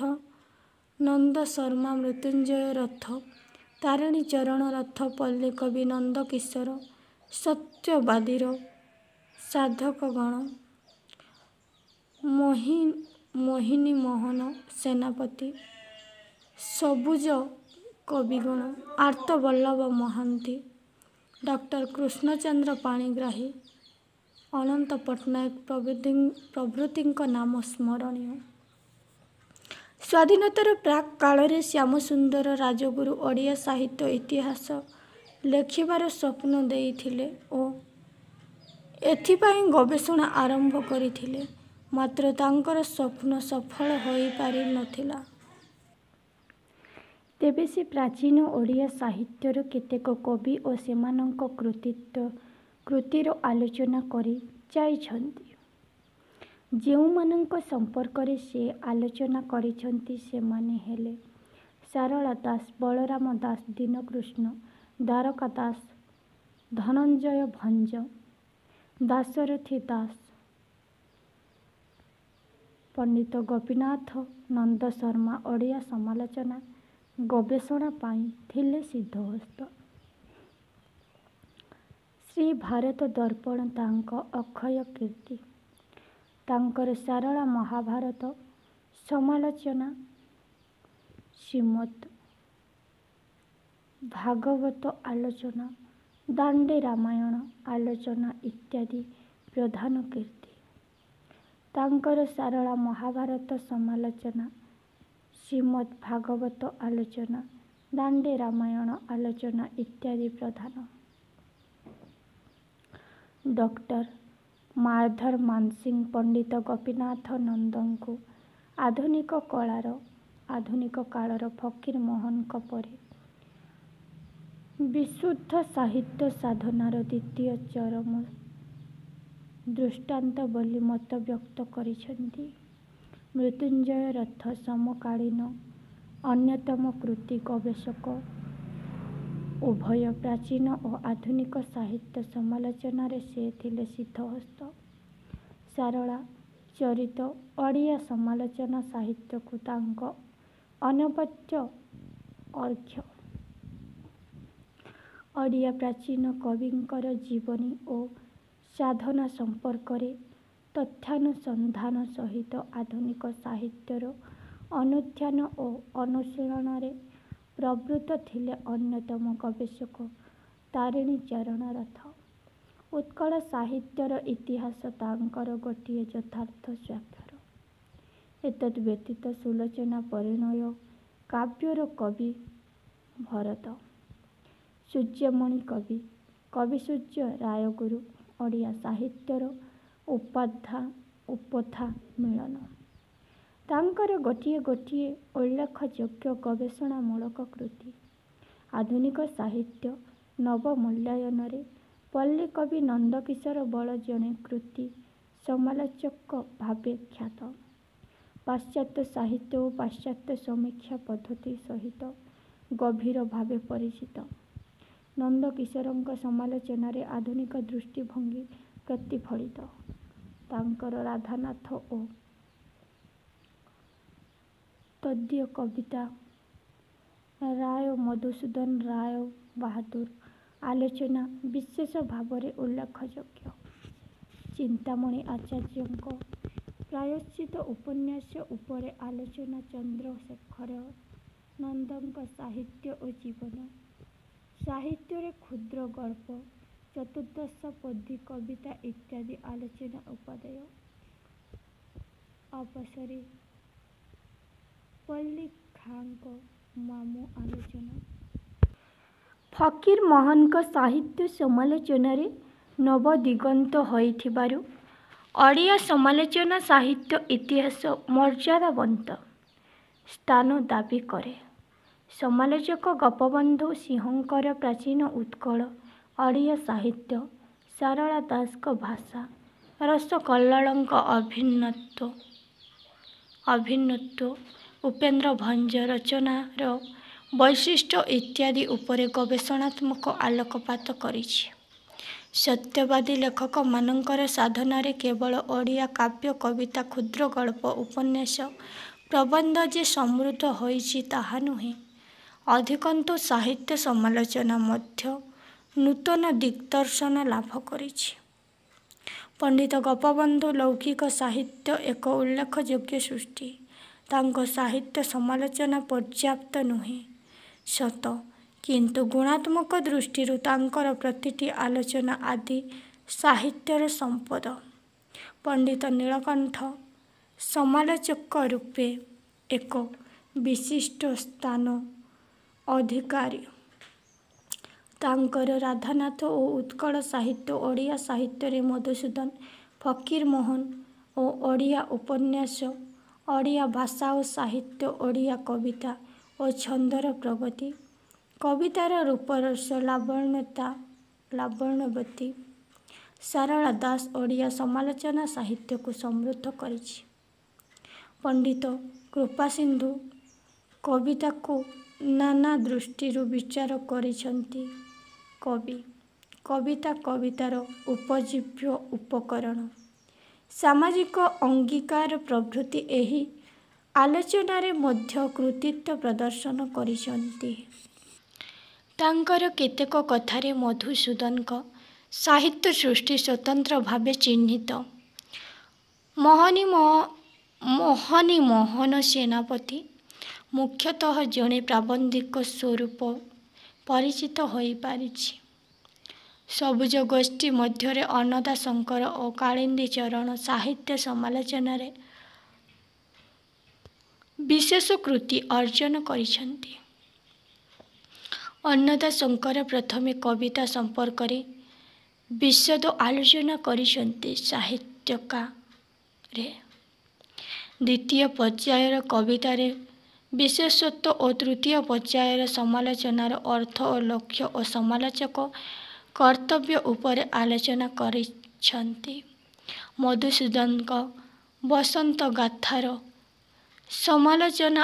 ନନ୍ଦ ଶର୍ମା, ମୃତ୍ୟୁଞ୍ଜୟ ରଥ, ତାରିଣୀ ଚରଣ ରଥ, ପଲ୍ଲୀକବି ନନ୍ଦକିଶୋର, ସତ୍ୟବାଦୀର ସାଧକଗଣ, ମୋହିନୀମୋହନ ସେନାପତି, ସବୁଜ କବିଗଣ, ଆର୍ତ୍ତବଲ୍ଲଭ ମହାନ୍ତି, ଡକ୍ଟର କୃଷ୍ଣଚନ୍ଦ୍ର ପାଣିଗ୍ରାହୀ, ଅନନ୍ତ ପଟ୍ଟନାୟକ ପ୍ରଭୃତିଙ୍କ ନାମ ସ୍ମରଣୀୟ। ସ୍ୱାଧୀନତାର ପ୍ରାକ୍ କାଳରେ ଶ୍ୟାମସୁନ୍ଦର ରାଜଗୁରୁ ଓଡ଼ିଆ ସାହିତ୍ୟ ଇତିହାସ ଲେଖିବାର ସ୍ୱପ୍ନ ଦେଇଥିଲେ ଓ ଏଥିପାଇଁ ଗବେଷଣା ଆରମ୍ଭ କରିଥିଲେ। ମାତ୍ର ତାଙ୍କର ସ୍ୱପ୍ନ ସଫଳ ହୋଇପାରି ନଥିଲା। ତେବେ ସେ ପ୍ରାଚୀନ ଓଡ଼ିଆ ସାହିତ୍ୟର କେତେକ କବି ଓ ସେମାନଙ୍କ କୃତିର ଆଲୋଚନା କରି ଯାଇଛନ୍ତି। ଯେଉଁମାନଙ୍କ ସମ୍ପର୍କରେ ସେ ଆଲୋଚନା କରିଛନ୍ତି ସେମାନେ ହେଲେ ସାରଳା ଦାସ, ବଳରାମ ଦାସ, ଦୀନକୃଷ୍ଣ, ଦ୍ୱାରକା ଦାସ, ଧନଞ୍ଜୟ ଭଞ୍ଜ, ଦାଶରଥି ଦାସ, ପଣ୍ଡିତ ଗୋପୀନାଥ ନନ୍ଦ ଶର୍ମା ଓଡ଼ିଆ ସମାଲୋଚନା ଗବେଷଣା ପାଇଁ ଥିଲେ ସିଦ୍ଧହସ୍ତ। ଶ୍ରୀ ଭାରତ ଦର୍ପଣ ତାଙ୍କ ଅକ୍ଷୟ କୀର୍ତ୍ତି। ତାଙ୍କର ସାରଳା ମହାଭାରତ ସମାଲୋଚନା, ଶ୍ରୀମଦ୍ ଭାଗବତ ଆଲୋଚନା, ଦାଣ୍ଡି ରାମାୟଣ ଆଲୋଚନା ଇତ୍ୟାଦି ପ୍ରଧାନ କୀର୍ତ୍ତି। ତାଙ୍କର ସାରଳା ମହାଭାରତ ସମାଲୋଚନା, ଶ୍ରୀମଦ୍ ଭାଗବତ ଆଲୋଚନା, ଦାଣ୍ଡି ରାମାୟଣ ଆଲୋଚନା ଇତ୍ୟାଦି ପ୍ରଧାନ। ଡକ୍ଟର ମାୟାଧର ମାନସିଂହ ପଣ୍ଡିତ ଗୋପୀନାଥ ନନ୍ଦଙ୍କୁ ଆଧୁନିକ କାଳର ଫକୀରମୋହନଙ୍କ ପରେ ବିଶୁଦ୍ଧ ସାହିତ୍ୟ ସାଧନାର ଦ୍ୱିତୀୟ ଚରମ ଦୃଷ୍ଟାନ୍ତ ବୋଲି ମତବ୍ୟକ୍ତ କରିଛନ୍ତି। ମୃତ୍ୟୁଞ୍ଜୟ ରଥ ସମକାଳୀନ ଅନ୍ୟତମ କୃତୀ ଗବେଷକ। ଉଭୟ ପ୍ରାଚୀନ ଓ ଆଧୁନିକ ସାହିତ୍ୟ ସମାଲୋଚନାରେ ସେ ଥିଲେ ସିଦ୍ଧହସ୍ତ। ସାରଳା ଚରିତ ଓଡ଼ିଆ ସମାଲୋଚନା ସାହିତ୍ୟକୁ ତାଙ୍କ ଅନବଦ୍ୟ ଅର୍ଘ୍ୟ। ଓଡ଼ିଆ ପ୍ରାଚୀନ କବିଙ୍କର ଜୀବନୀ ଓ ସାଧନା ସମ୍ପର୍କରେ ତଥ୍ୟାନୁସନ୍ଧାନ ସହିତ ଆଧୁନିକ ସାହିତ୍ୟର ଅନୁଧ୍ୟାନ ଓ ଅନୁଶୀଳନରେ ପ୍ରବୃତ୍ତ ଥିଲେ ଅନ୍ୟତମ ଗବେଷକ ତାରିଣୀ ଚରଣ ରଥ। ଉତ୍କଳ ସାହିତ୍ୟର ଇତିହାସ ତାଙ୍କର ଗୋଟିଏ ଯଥାର୍ଥ ସ୍ୱାକ୍ଷର। ଏତଦ୍ ବ୍ୟତୀତ ସୁଲୋଚନା ପରିଣୟ କାବ୍ୟର କବି ଭରତ, ସୂର୍ଯ୍ୟମଣି କବି, କବିସୂର୍ଯ୍ୟ ରାୟଗୁରୁ, ଓଡ଼ିଆ ସାହିତ୍ୟର ଉପଧା ମିଳନ ତାଙ୍କର ଗୋଟିଏ ଗୋଟିଏ ଉଲ୍ଲେଖଯୋଗ୍ୟ ଗବେଷଣାମୂଳକ କୃତି। ଆଧୁନିକ ସାହିତ୍ୟ ନବମୂଲ୍ୟାୟନରେ ପଲ୍ଲୀକବି ନନ୍ଦକିଶୋର ବଳ ଜଣେ କୃତୀ ସମାଲୋଚକ ଭାବେ ଖ୍ୟାତ। ପାଶ୍ଚାତ୍ୟ ସାହିତ୍ୟ ଓ ପାଶ୍ଚାତ୍ୟ ସମୀକ୍ଷା ପଦ୍ଧତି ସହିତ ଗଭୀର ଭାବେ ପରିଚିତ ନନ୍ଦକିଶୋରଙ୍କ ସମାଲୋଚନାରେ ଆଧୁନିକ ଦୃଷ୍ଟିଭଙ୍ଗୀ ପ୍ରତିଫଳିତ। ତାଙ୍କର ରାଧାନାଥ ଓ ତଦୀୟ କବିତା, ରାୟ ମଧୁସୂଦନ ରାୟ ବାହାଦୁର ଆଲୋଚନା ବିଶେଷ ଭାବରେ ଉଲ୍ଲେଖଯୋଗ୍ୟ। ଚିନ୍ତାମଣି ଆଚାର୍ଯ୍ୟଙ୍କ ପ୍ରାୟଶ୍ଚିତ୍ତ ଉପନ୍ୟାସ ଉପରେ ଆଲୋଚନା ଚନ୍ଦ୍ରଶେଖର ନନ୍ଦଙ୍କ ସାହିତ୍ୟ ଓ ଜୀବନ, ସାହିତ୍ୟରେ କ୍ଷୁଦ୍ରଗଳ୍ପ, ଚତୁର୍ଦ୍ଦଶପଦୀ କବିତା ଇତ୍ୟାଦି ଆଲୋଚନା ଉପାଦେୟ। ଅପସରି ପଲ୍ଲୀଖାଁଙ୍କ ମାମୁଁ ଆଲୋଚନା। ଫକୀରମୋହନଙ୍କ ସାହିତ୍ୟ ସମାଲୋଚନାରେ ନବଦିଗନ୍ତ ହୋଇଥିବାରୁ ଓଡ଼ିଆ ସମାଲୋଚନା ସାହିତ୍ୟ ଇତିହାସ ମର୍ଯ୍ୟାଦାବନ୍ତ ସ୍ଥାନ ଦାବି କରେ। ସମାଲୋଚକ ଗୋପବନ୍ଧୁ ସିଂହଙ୍କର ପ୍ରାଚୀନ ଉତ୍କଳ ଓଡ଼ିଆ ସାହିତ୍ୟ, ସାରଳା ଦାସଙ୍କ ଭାଷା, ରସକଲ୍ଲୋଳଙ୍କ ଅଭିନ୍ନତ୍ୱ, ଉପେନ୍ଦ୍ର ଭଞ୍ଜ ରଚନାର ବୈଶିଷ୍ଟ୍ୟ ଇତ୍ୟାଦି ଉପରେ ଗବେଷଣାତ୍ମକ ଆଲୋକପାତ କରିଛି। ସତ୍ୟବାଦୀ ଲେଖକମାନଙ୍କର ସାଧନାରେ କେବଳ ଓଡ଼ିଆ କାବ୍ୟ, କବିତା, କ୍ଷୁଦ୍ରଗଳ୍ପ, ଉପନ୍ୟାସ, ପ୍ରବନ୍ଧ ଯେ ସମୃଦ୍ଧ ହୋଇଛି ତାହା ନୁହେଁ, ଅଧିକନ୍ତୁ ସାହିତ୍ୟ ସମାଲୋଚନା ମଧ୍ୟ ନୂତନ ଦିଗ୍ଦର୍ଶନ ଲାଭ କରିଛି। ପଣ୍ଡିତ ଗୋପବନ୍ଧୁ ଲୌକିକ ସାହିତ୍ୟ ଏକ ଉଲ୍ଲେଖଯୋଗ୍ୟ ସୃଷ୍ଟି। ତାଙ୍କ ସାହିତ୍ୟ ସମାଲୋଚନା ପର୍ଯ୍ୟାପ୍ତ ନୁହେଁ ସତ, କିନ୍ତୁ ଗୁଣାତ୍ମକ ଦୃଷ୍ଟିରୁ ତାଙ୍କର ପ୍ରତିଟି ଆଲୋଚନା ଆଦି ସାହିତ୍ୟର ସମ୍ପଦ। ପଣ୍ଡିତ ନୀଳକଣ୍ଠ ସମାଲୋଚକ ରୂପେ ଏକ ବିଶିଷ୍ଟ ସ୍ଥାନ ଅଧିକାରୀ। ତାଙ୍କର ରାଧାନାଥ ଓ ଉତ୍କଳ ସାହିତ୍ୟ, ଓଡ଼ିଆ ସାହିତ୍ୟରେ ମଧୁସୂଦନ, ଫକୀରମୋହନ ଓ ଓଡ଼ିଆ ଉପନ୍ୟାସ, ଓଡ଼ିଆ ଭାଷା ଓ ସାହିତ୍ୟ, ଓଡ଼ିଆ କବିତା ଓ ଛନ୍ଦର ପ୍ରଗତି, କବିତାର ରୂପରସ ଲାବଣ୍ୟବତୀ, ସାରଳା ଦାସ ଓଡ଼ିଆ ସମାଲୋଚନା ସାହିତ୍ୟକୁ ସମୃଦ୍ଧ କରିଛି। ପଣ୍ଡିତ କୃପାସିନ୍ଧୁ କବିତାକୁ ନାନା ଦୃଷ୍ଟିରୁ ବିଚାର କରିଛନ୍ତି। କବି, କବିତା, କବିତାର ଉପଜୀବ୍ୟ ଉପକରଣ, ସାମାଜିକ ଅଙ୍ଗୀକାର ପ୍ରଭୃତି ଏହି ଆଲୋଚନାରେ ମଧ୍ୟ କୃତିତ୍ୱ ପ୍ରଦର୍ଶନ କରିଛନ୍ତି। ତାଙ୍କର କେତେକ କଥାରେ ମଧୁସୂଦନଙ୍କ ସାହିତ୍ୟ ସୃଷ୍ଟି ସ୍ୱତନ୍ତ୍ର ଭାବେ ଚିହ୍ନିତ। ମହନୀମୋହନ ସେନାପତି ମୁଖ୍ୟତଃ ଜଣେ ପ୍ରାବନ୍ଧିକ ସ୍ୱରୂପ ପରିଚିତ ହୋଇପାରିଛି। ସବୁଜ ଗୋଷ୍ଠୀ ମଧ୍ୟରେ ଅନ୍ନଦାଶଙ୍କର ଓ କାଳିନ୍ଦୀଚରଣ ସାହିତ୍ୟ ସମାଲୋଚନାରେ ବିଶେଷ କୃତି ଅର୍ଜନ କରିଛନ୍ତି। ଅନ୍ନଦାଶଙ୍କର ପ୍ରଥମେ କବିତା ସମ୍ପର୍କରେ ବିଶଦ ଆଲୋଚନା କରିଛନ୍ତି ସାହିତ୍ୟିକାରେ। ଦ୍ୱିତୀୟ ପର୍ଯ୍ୟାୟରେ କବିତାର ବିଶେଷତ୍ୱ ଓ ତୃତୀୟ ପର୍ଯ୍ୟାୟରେ ସମାଲୋଚନାର ଅର୍ଥ ଓ ଲକ୍ଷ୍ୟ ଓ ସମାଲୋଚକ କର୍ତ୍ତବ୍ୟ ଉପରେ ଆଲୋଚନା କରିଛନ୍ତି। ମଧୁସୂଦନଙ୍କ ବସନ୍ତଗାଥାର ସମାଲୋଚନା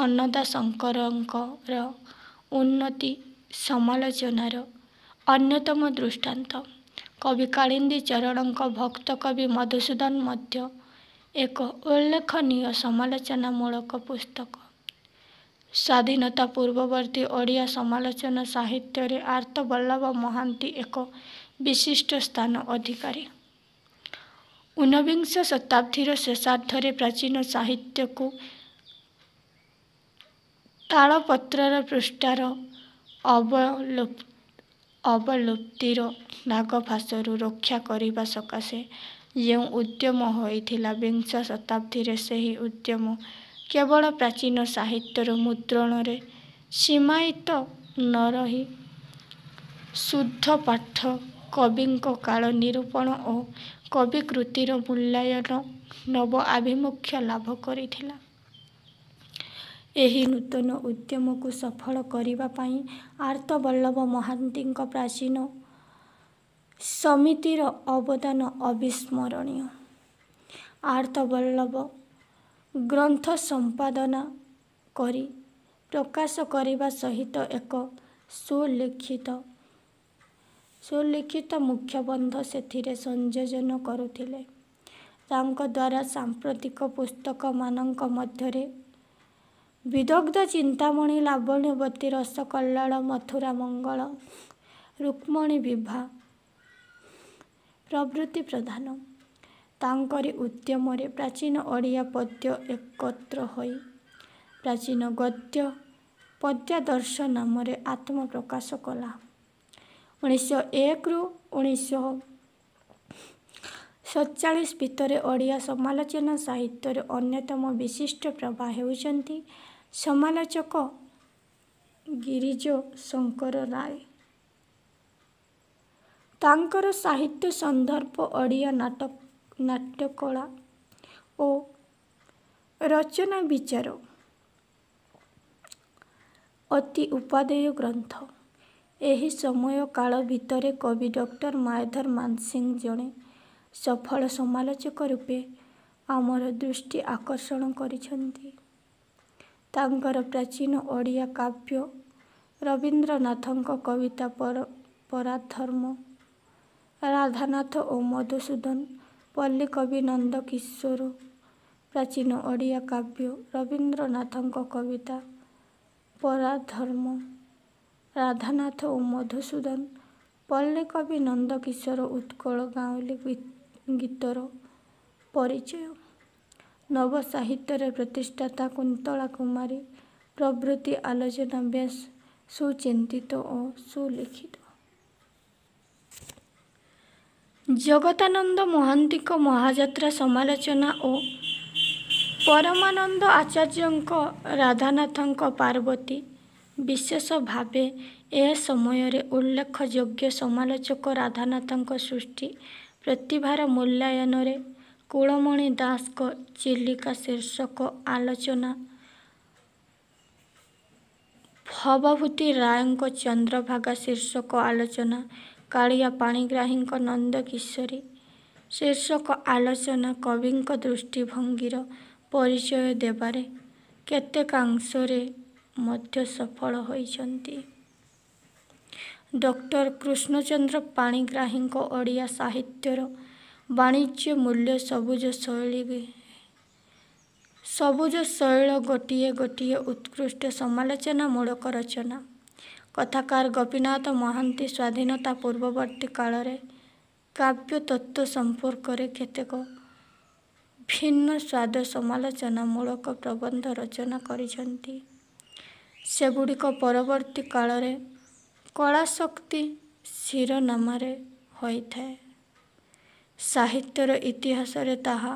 ଅନ୍ନଦାଶଙ୍କରଙ୍କର ଉନ୍ନତି ସମାଲୋଚନାର ଅନ୍ୟତମ ଦୃଷ୍ଟାନ୍ତ। କବି କାଳିନ୍ଦୀଚରଣଙ୍କ ଭକ୍ତକବି ମଧୁସୂଦନ ମଧ୍ୟ ଏକ ଉଲ୍ଲେଖନୀୟ ସମାଲୋଚନାମୂଳକ ପୁସ୍ତକ। ସ୍ୱାଧୀନତା ପୂର୍ବବର୍ତ୍ତୀ ଓଡ଼ିଆ ସମାଲୋଚନା ସାହିତ୍ୟରେ ଆର୍ତ୍ତବଲ୍ଲଭ ମହାନ୍ତି ଏକ ବିଶିଷ୍ଟ ସ୍ଥାନ ଅଧିକାରୀ। ଊନବିଂଶ ଶତାବ୍ଦୀର ଶେଷାର୍ଦ୍ଧରେ ପ୍ରାଚୀନ ସାହିତ୍ୟକୁ ତାଳପତ୍ରର ପୃଷ୍ଠାର ଅବଲୁପ୍ତିର ନାଗଫାଶରୁ ରକ୍ଷା କରିବା ସକାଶେ ଯେଉଁ ଉଦ୍ୟମ ହୋଇଥିଲା, ବିଂଶ ଶତାବ୍ଦୀରେ ସେହି ଉଦ୍ୟମ କେବଳ ପ୍ରାଚୀନ ସାହିତ୍ୟର ମୁଦ୍ରଣରେ ସୀମାୟିତ ନ ରହି ଶୁଦ୍ଧପାଠ, କବିଙ୍କ କାଳ ନିରୂପଣ ଓ କବିକୃତିର ମୂଲ୍ୟାୟନ ନବ ଆଭିମୁଖ୍ୟ ଲାଭ କରିଥିଲା। ଏହି ନୂତନ ଉଦ୍ୟମକୁ ସଫଳ କରିବା ପାଇଁ ଆର୍ତ୍ତବଲ୍ଲଭ ମହାନ୍ତିଙ୍କ ପ୍ରାଚୀନ ସମିତିର ଅବଦାନ ଅବିସ୍ମରଣୀୟ। ଆର୍ତ୍ତବଲ୍ଲଭ ଗ୍ରନ୍ଥ ସମ୍ପାଦନା କରି ପ୍ରକାଶ କରିବା ସହିତ ଏକ ସୁଲିଖିତ ସୁଲିଖିତ ମୁଖବନ୍ଧ ସେଥିରେ ସଂଯୋଜନ କରୁଥିଲେ। ତାଙ୍କଦ୍ୱାରା ସମ୍ପାଦିତ ପୁସ୍ତକମାନଙ୍କ ମଧ୍ୟରେ ବିଦଗ୍ଧ ଚିନ୍ତାମଣି, ଲାବଣ୍ୟବତୀ, ରସକଲ୍ଲୋଳ, ମଥୁରାମଙ୍ଗଳ, ରୁକ୍ମିଣୀ ବିବାହ ପ୍ରଭୃତି ପ୍ରଧାନ। ତାଙ୍କରି ଉଦ୍ୟମରେ ପ୍ରାଚୀନ ଓଡ଼ିଆ ପଦ୍ୟ ଏକତ୍ର ହୋଇ ପ୍ରାଚୀନ ଗଦ୍ୟ ପଦ୍ୟାଦର୍ଶ ନାମରେ ଆତ୍ମପ୍ରକାଶ କଲା। ଉଣେଇଶହ ଏକରୁ ଉଣେଇଶହ ସତଚାଳିଶ ଭିତରେ ଓଡ଼ିଆ ସମାଲୋଚନା ସାହିତ୍ୟର ଅନ୍ୟତମ ବିଶିଷ୍ଟ ପ୍ରଭା ହେଉଛନ୍ତି ସମାଲୋଚକ ଗିରିଜ ଶଙ୍କର ରାୟ। ତାଙ୍କର ସାହିତ୍ୟ ସନ୍ଦର୍ଭ, ଓଡ଼ିଆ ନାଟକ ନାଟ୍ୟକଳା ଓ ରଚନା ବିଚାର ଅତି ଉପାଦେୟ ଗ୍ରନ୍ଥ। ଏହି ସମୟ କାଳ ଭିତରେ କବି ଡକ୍ଟର ମାୟାଧର ମାନସିଂହ ଜଣେ ସଫଳ ସମାଲୋଚକ ରୂପେ ଆମର ଦୃଷ୍ଟି ଆକର୍ଷଣ କରିଛନ୍ତି। ତାଙ୍କର ପ୍ରାଚୀନ ଓଡ଼ିଆ କାବ୍ୟ, ରବୀନ୍ଦ୍ରନାଥଙ୍କ କବିତା ପରାଧର୍ମ, ରାଧାନାଥ ଓ ମଧୁସୂଦନ, ପଲ୍ଲୀକବି ନନ୍ଦକିଶୋର, ପ୍ରାଚୀନ ଓଡ଼ିଆ କାବ୍ୟ, ରବୀନ୍ଦ୍ରନାଥଙ୍କ କବିତା ପରାଧର୍ମ, ରାଧାନାଥ ଓ ମଧୁସୂଦନ, ପଲ୍ଲୀକବି ନନ୍ଦକିଶୋର, ଉତ୍କଳ ଗାଉଁଲି ଗୀତର ପରିଚୟ, ନବସାହିତ୍ୟର ପ୍ରତିଷ୍ଠାତା କୁନ୍ତଳା କୁମାରୀ ପ୍ରଭୃତି ଆଲୋଚନା ବେଶ୍ ସୁଚିନ୍ତିତ ଓ ସୁଲିଖିତ। ଜଗଦାନନ୍ଦ ମହାନ୍ତିଙ୍କ ମହାଯାତ୍ରା ସମାଲୋଚନା ଓ ପରମାନନ୍ଦ ଆଚାର୍ଯ୍ୟଙ୍କ ରାଧାନାଥଙ୍କ ପାର୍ବତୀ ବିଶେଷ ଭାବେ ଏ ସମୟରେ ଉଲ୍ଲେଖଯୋଗ୍ୟ। ସମାଲୋଚକ ରାଧାନାଥଙ୍କ ସୃଷ୍ଟି ପ୍ରତିଭାର ମୂଲ୍ୟାୟନରେ କୁଳମଣି ଦାସଙ୍କ ଚିଲିକା ଶୀର୍ଷକ ଆଲୋଚନା, ଭବଭୂତି ରାୟଙ୍କ ଚନ୍ଦ୍ରଭାଗା ଶୀର୍ଷକ ଆଲୋଚନା, କାଳିଆ ପାଣିଗ୍ରାହୀଙ୍କ ନନ୍ଦକିଶୋରୀ ଶୀର୍ଷକ ଆଲୋଚନା କବିଙ୍କ ଦୃଷ୍ଟିଭଙ୍ଗୀର ପରିଚୟ ଦେବାରେ କେତେକାଂଶରେ ମଧ୍ୟ ସଫଳ ହୋଇଛନ୍ତି। ଡକ୍ଟର କୃଷ୍ଣଚନ୍ଦ୍ର ପାଣିଗ୍ରାହୀଙ୍କ ଓଡ଼ିଆ ସାହିତ୍ୟର ବାଣିଜ୍ୟ ମୂଲ୍ୟ ସବୁଜ ଶୈଳୀ ସବୁଜ ଶୈଳ ଗୋଟିଏ ଗୋଟିଏ ଉତ୍କୃଷ୍ଟ ସମାଲୋଚନାମୂଳକ ରଚନା। କଥାକାର ଗୋପୀନାଥ ମହାନ୍ତି ସ୍ୱାଧୀନତା ପୂର୍ବବର୍ତ୍ତୀ କାଳରେ କାବ୍ୟତତ୍ତ୍ୱ ସମ୍ପର୍କରେ କେତେକ ଭିନ୍ନ ସ୍ୱାଦ ସମାଲୋଚନାମୂଳକ ପ୍ରବନ୍ଧ ରଚନା କରିଛନ୍ତି। ସେଗୁଡ଼ିକ ପରବର୍ତ୍ତୀ କାଳରେ କଳାଶକ୍ତି ଶିରୋନାମାରେ ହୋଇଥାଏ। ସାହିତ୍ୟର ଇତିହାସରେ ତାହା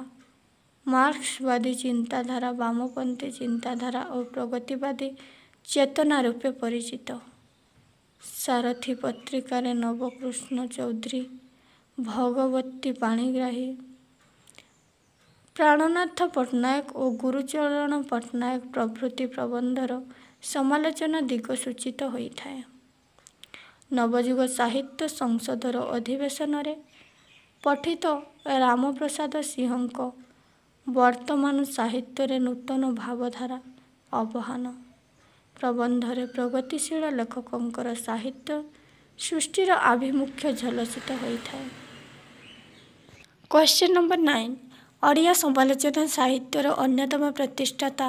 ମାର୍କ୍ସବାଦୀ ଚିନ୍ତାଧାରା, ବାମପନ୍ଥୀ ଚିନ୍ତାଧାରା ଓ ପ୍ରଗତିବାଦୀ ଚେତନା ରୂପେ ପରିଚିତ। ସାରଥୀ ପତ୍ରିକାରେ ନବକୃଷ୍ଣ ଚୌଧୁରୀ, ଭଗବତୀ ପାଣିଗ୍ରାହୀ, ପ୍ରାଣନାଥ ପଟ୍ଟନାୟକ ଓ ଗୁରୁଚରଣ ପଟ୍ଟନାୟକ ପ୍ରଭୃତି ପ୍ରବନ୍ଧର ସମାଲୋଚନା ଦିଗ ସୂଚିତ ହୋଇଥାଏ। ନବଯୁଗ ସାହିତ୍ୟ ସଂସଦର ଅଧିବେଶନରେ ପଠିତ ରାମପ୍ରସାଦ ସିଂହଙ୍କ ବର୍ତ୍ତମାନ ସାହିତ୍ୟରେ ନୂତନ ଭାବଧାରା ଆବାହନ ପ୍ରବନ୍ଧରେ ପ୍ରଗତିଶୀଳ ଲେଖକଙ୍କର ସାହିତ୍ୟ ସୃଷ୍ଟିର ଆଭିମୁଖ୍ୟ ଝଲସିତ ହୋଇଥାଏ। କ୍ୱେଶ୍ଚନ୍ ନମ୍ବର ନାଇନ୍, ଓଡ଼ିଆ ସମାଲୋଚନା ସାହିତ୍ୟର ଅନ୍ୟତମ ପ୍ରତିଷ୍ଠାତା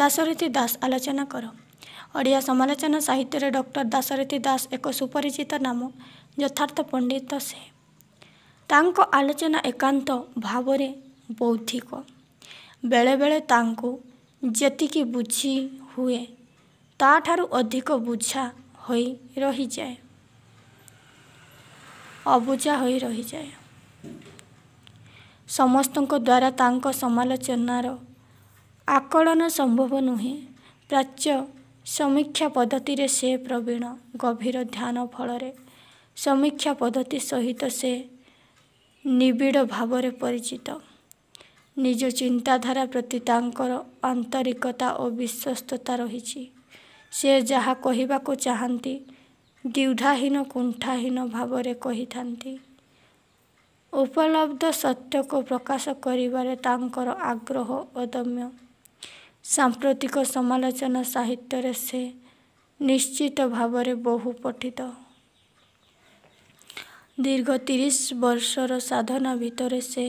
ଦାଶରଥି ଦାସ ଆଲୋଚନା କର। ଓଡ଼ିଆ ସମାଲୋଚନା ସାହିତ୍ୟରେ ଡକ୍ଟର ଦାଶରଥି ଦାସ ଏକ ସୁପରିଚିତ ନାମ। ଯଥାର୍ଥ ପଣ୍ଡିତ ସେ। ତାଙ୍କ ଆଲୋଚନା ଏକାନ୍ତ ଭାବରେ ବୌଦ୍ଧିକ। ବେଳେବେଳେ ତାଙ୍କୁ ଯେତିକି ବୁଝି ହୁଏ, ତା'ଠାରୁ ଅଧିକ ବୁଝା ହୋଇ ରହିଯାଏ ଅବୁଝା ହୋଇ ରହିଯାଏ। ସମସ୍ତଙ୍କ ଦ୍ୱାରା ତାଙ୍କ ସମାଲୋଚନାର ଆକଳନ ସମ୍ଭବ ନୁହେଁ। ପ୍ରାଚ୍ୟ ସମୀକ୍ଷା ପଦ୍ଧତିରେ ସେ ପ୍ରବୀଣ। ଗଭୀର ଧ୍ୟାନ ଫଳରେ ସମୀକ୍ଷା ପଦ୍ଧତି ସହିତ ସେ ନିବିଡ଼ ଭାବରେ ପରିଚିତ। ନିଜ ଚିନ୍ତାଧାରା ପ୍ରତି ତାଙ୍କର ଆନ୍ତରିକତା ଓ ବିଶ୍ୱସ୍ତତା ରହିଛି। ସେ ଯାହା କହିବାକୁ ଚାହାନ୍ତି, ଦ୍ୱିଧାହୀନ କୁଣ୍ଠାହୀନ ଭାବରେ କହିଥାନ୍ତି। ଉପଲବ୍ଧ ସତ୍ୟକୁ ପ୍ରକାଶ କରିବାରେ ତାଙ୍କର ଆଗ୍ରହ ଅଦମ୍ୟ। ସାମ୍ପ୍ରତିକ ସମାଲୋଚନା ସାହିତ୍ୟରେ ସେ ନିଶ୍ଚିତ ଭାବରେ ବହୁ ପଠିତ। ଦୀର୍ଘ ତିରିଶ ବର୍ଷର ସାଧନା ଭିତରେ ସେ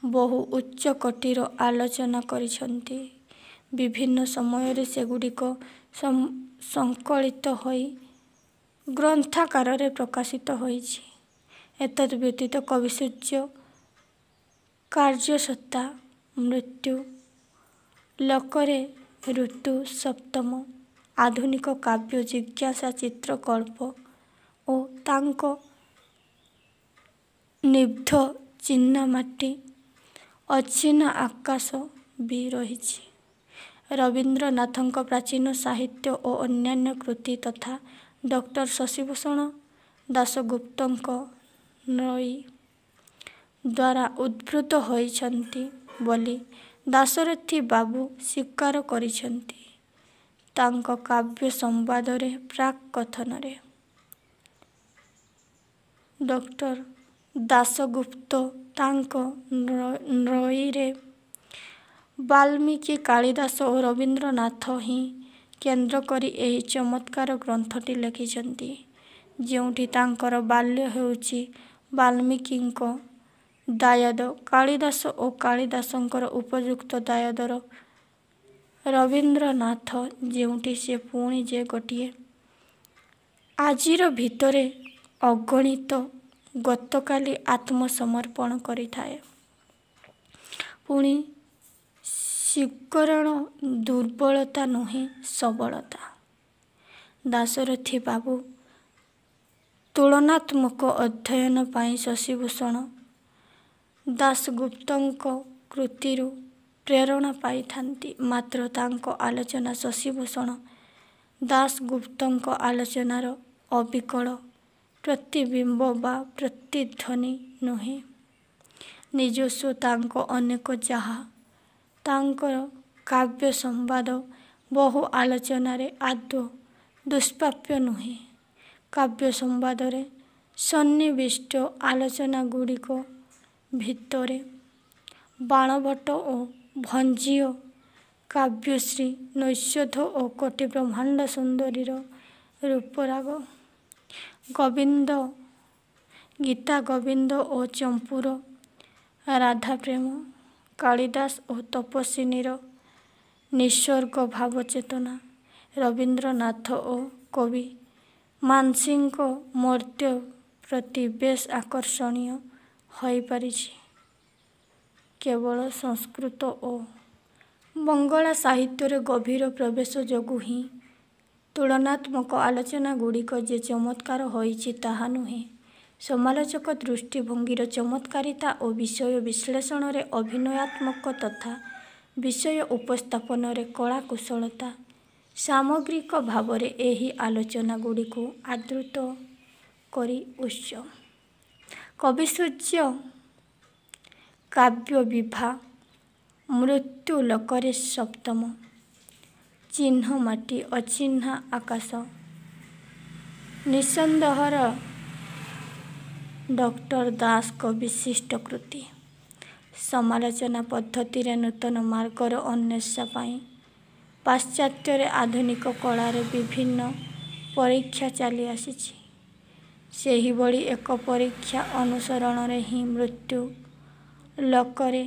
ବହୁ ଉଚ୍ଚକୋଟୀର ଆଲୋଚନା କରିଛନ୍ତି। ବିଭିନ୍ନ ସମୟରେ ସେଗୁଡ଼ିକ ସଂକଳିତ ହୋଇ ଗ୍ରନ୍ଥାକାରରେ ପ୍ରକାଶିତ ହୋଇଛି। ଏତଦ୍ ବ୍ୟତୀତ କବିସୂର୍ଯ୍ୟ କାର୍ଯ୍ୟସତ୍ତା, ମୃତ୍ୟୁ ଲୋକରେ ଋତୁ ସପ୍ତମ, ଆଧୁନିକ କାବ୍ୟ ଜିଜ୍ଞାସା ଚିତ୍ରକଳ୍ପ ଓ ତାଙ୍କ ନିବଦ୍ଧ ଚିନାମାଟି ଅଚିହ୍ନା ଆକାଶ ବି ରହିଛି। ରବୀନ୍ଦ୍ରନାଥଙ୍କ ପ୍ରାଚୀନ ସାହିତ୍ୟ ଓ ଅନ୍ୟାନ୍ୟ କୃତି ତଥା ଡକ୍ଟର ଶଶିଭୂଷଣ ଦାସଗୁପ୍ତଙ୍କ ନଈ ଦ୍ୱାରା ଉଦ୍ବୃତ ହୋଇଛନ୍ତି ବୋଲି ଦାଶରଥି ବାବୁ ସ୍ୱୀକାର କରିଛନ୍ତି ତାଙ୍କ କାବ୍ୟ ସମ୍ବାଦର ପ୍ରାକ୍ କଥନରେ। ଡକ୍ଟର ଦାସଗୁପ୍ତ ତାଙ୍କ ନଈରେ ବାଲ୍ମୀକି, କାଳିଦାସ ଓ ରବୀନ୍ଦ୍ରନାଥଙ୍କୁ ହିଁ କେନ୍ଦ୍ର କରି ଏହି ଚମତ୍କାର ଗ୍ରନ୍ଥଟି ଲେଖିଛନ୍ତି, ଯେଉଁଠି ତାଙ୍କର ବାଲ୍ୟ ହେଉଛି ବାଲ୍ମୀକିଙ୍କ ଦାୟାଦ କାଳିଦାସ ଓ କାଳିଦାସଙ୍କର ଉପଯୁକ୍ତ ଦାୟାଦ ରବୀନ୍ଦ୍ରନାଥ, ଯେଉଁଠି ସେ ପୁଣି ଯେ ଗୋଟିଏ ଆଜିର ଭିତରେ ଅଗଣିତ ଗତକାଲି ଆତ୍ମସମର୍ପଣ କରିଥାଏ। ପୁଣି ସ୍ୱୀକରଣ ଦୁର୍ବଳତା ନୁହେଁ, ସବଳତା। ଦାଶରଥି ବାବୁ ତୁଳନାତ୍ମକ ଅଧ୍ୟୟନ ପାଇଁ ଶଶିଭୂଷଣ ଦାସଗୁପ୍ତଙ୍କ କୃତିରୁ ପ୍ରେରଣା ପାଇଥାନ୍ତି। ମାତ୍ର ତାଙ୍କ ଆଲୋଚନା ଶଶିଭୂଷଣ ଦାସଗୁପ୍ତଙ୍କ ଆଲୋଚନାର ଅବିକଳ ପ୍ରତିବିମ୍ବ ବା ପ୍ରତିଧ୍ୱନି ନୁହେଁ। ନିଜସ୍ୱ ତାଙ୍କ ଅନେକ ଯାହା ତାଙ୍କର କାବ୍ୟ ସମ୍ବାଦ ବହୁ ଆଲୋଚନାରେ ଆଦୌ ଦୁଷ୍ପ୍ରାପ୍ୟ ନୁହେଁ। କାବ୍ୟ ସମ୍ବାଦରେ ସନ୍ନିବିଷ୍ଟ ଆଲୋଚନାଗୁଡ଼ିକ ଭିତରେ ବାଣଭଟ୍ଟ ଓ ଭଞ୍ଜୀୟ କାବ୍ୟଶ୍ରୀ ନୈଷଧ ଓ କୋଟି ବ୍ରହ୍ମାଣ୍ଡ ସୁନ୍ଦରୀର ରୂପରାଗ, ଗୋବିନ୍ଦ ଗୀତା ଗୋବିନ୍ଦ ଓ ଚମ୍ପୂର ରାଧାପ୍ରେମ, କାଳିଦାସ ଓ ତପସ୍ୱିନୀର ନିସର୍ଗ ଭାବଚେତନା, ରବୀନ୍ଦ୍ରନାଥ ଓ କବି ମାନସିଂଙ୍କ ମର୍ତ୍ତ୍ୟ ପ୍ରତି ବେଶ୍ ଆକର୍ଷଣୀୟ ହୋଇପାରିଛି। କେବଳ ସଂସ୍କୃତ ଓ ବଙ୍ଗଳା ସାହିତ୍ୟରେ ଗଭୀର ପ୍ରବେଶ ଯୋଗୁଁ ହିଁ ତୁଳନାତ୍ମକ ଆଲୋଚନାଗୁଡ଼ିକ ଯେ ଚମତ୍କାର ହୋଇଛି ତାହା ନୁହେଁ, ସମାଲୋଚକ ଦୃଷ୍ଟିଭଙ୍ଗୀର ଚମତ୍କାରିତା ଓ ବିଷୟ ବିଶ୍ଳେଷଣରେ ଅଭିନୟାତ୍ମକ ତଥା ବିଷୟ ଉପସ୍ଥାପନରେ କଳାକୁଶଳତା ସାମଗ୍ରିକ ଭାବରେ ଏହି ଆଲୋଚନାଗୁଡ଼ିକୁ ଆଦୃତ କରି ଉତ୍ସ। କବିସୂର୍ଯ୍ୟ କାବ୍ୟବିଭା, ମୃତ୍ୟୁଲୋକରେ ସପ୍ତମ, ଚିହ୍ନମାଟି ଅଚିହ୍ନା ଆକାଶ ନିଃସନ୍ଦେହରେ ଡକ୍ଟର ଦାସଙ୍କ ବିଶିଷ୍ଟ କୃତି। ସମାଲୋଚନା ପଦ୍ଧତିରେ ନୂତନ ମାର୍ଗର ଅନ୍ୱେଷା ପାଇଁ ପାଶ୍ଚାତ୍ୟରେ ଆଧୁନିକ କଳାରେ ବିଭିନ୍ନ ପରୀକ୍ଷା ଚାଲିଆସିଛି। ସେହିଭଳି ଏକ ପରୀକ୍ଷା ଅନୁସରଣରେ ହିଁ ମୃତ୍ୟୁ ଲୋକରେ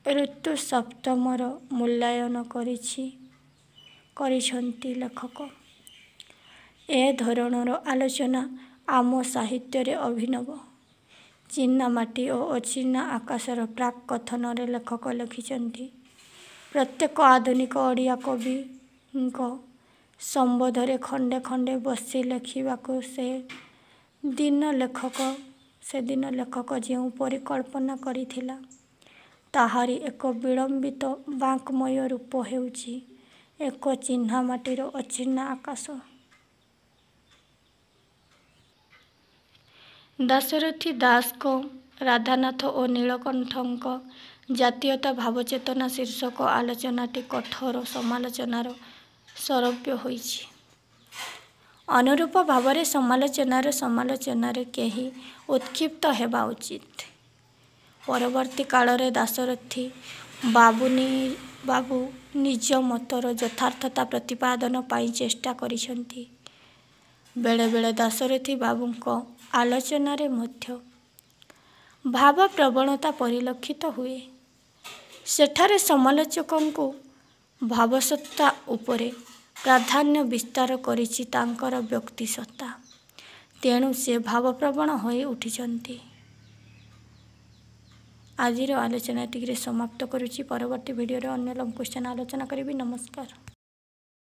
ଋତୁ ସପ୍ତମର ମୂଲ୍ୟାୟନ କରିଛି କରିଛନ୍ତି ଲେଖକ। ଏ ଧରଣର ଆଲୋଚନା ଆମ ସାହିତ୍ୟରେ ଅଭିନବ। ଚିନାମାଟି ଓ ଅଚିହ୍ନା ଆକାଶର ପ୍ରାକ୍ କଥନରେ ଲେଖକ ଲେଖିଛନ୍ତି, ପ୍ରତ୍ୟେକ ଆଧୁନିକ ଓଡ଼ିଆ କବିଙ୍କ ସମ୍ବନ୍ଧରେ ଖଣ୍ଡେ ଖଣ୍ଡେ ବସି ଲେଖିବାକୁ ସେ ଦିନ ଲେଖକ ସେଦିନ ଲେଖକ ଯେଉଁ ପରିକଳ୍ପନା କରିଥିଲା, ତାହାରି ଏକ ବିଳମ୍ବିତ ବାଙ୍ମୟ ରୂପ ହେଉଛି ଏକ ଚିହ୍ନାମାଟିର ଅଚିହ୍ନା ଆକାଶ। ଦାଶରଥି ଦାସଙ୍କ ରାଧାନାଥ ଓ ନୀଳକଣ୍ଠଙ୍କ ଜାତୀୟତା ଭାବଚେତନା ଶୀର୍ଷକ ଆଲୋଚନାଟି କଠୋର ସମାଲୋଚନାର ଶରବ୍ୟ ହୋଇଛି। ଅନୁରୂପ ଭାବରେ ସମାଲୋଚନାର ସମାଲୋଚନାରେ କେହି ଉତ୍କ୍ଷିପ୍ତ ହେବା ଉଚିତ। ପରବର୍ତ୍ତୀ କାଳରେ ଦାଶରଥି ବାବୁ ନିଜ ମତର ଯଥାର୍ଥତା ପ୍ରତିପାଦନ ପାଇଁ ଚେଷ୍ଟା କରିଛନ୍ତି। ବେଳେବେଳେ ଦାଶରଥି ବାବୁଙ୍କ ଆଲୋଚନାରେ ମଧ୍ୟ ଭାବପ୍ରବଣତା ପରିଲକ୍ଷିତ ହୁଏ। ସେଠାରେ ସମାଲୋଚକଙ୍କ ଭାବସତ୍ତା ଉପରେ ପ୍ରାଧାନ୍ୟ ବିସ୍ତାର କରିଛି ତାଙ୍କର ବ୍ୟକ୍ତିସତ୍ତା। ତେଣୁ ସେ ଭାବପ୍ରବଣ ହୋଇ ଉଠିଛନ୍ତି। ଆଜିର ଆଲୋଚନା ଏତିକିରେ ସମାପ୍ତ କରୁଛି। ପରବର୍ତ୍ତୀ ଭିଡ଼ିଓରେ ଅନ୍ୟ ଲଙ୍ଗ କ୍ୱେଶ୍ଚନ୍ ଆଲୋଚନା କରିବି। ନମସ୍କାର।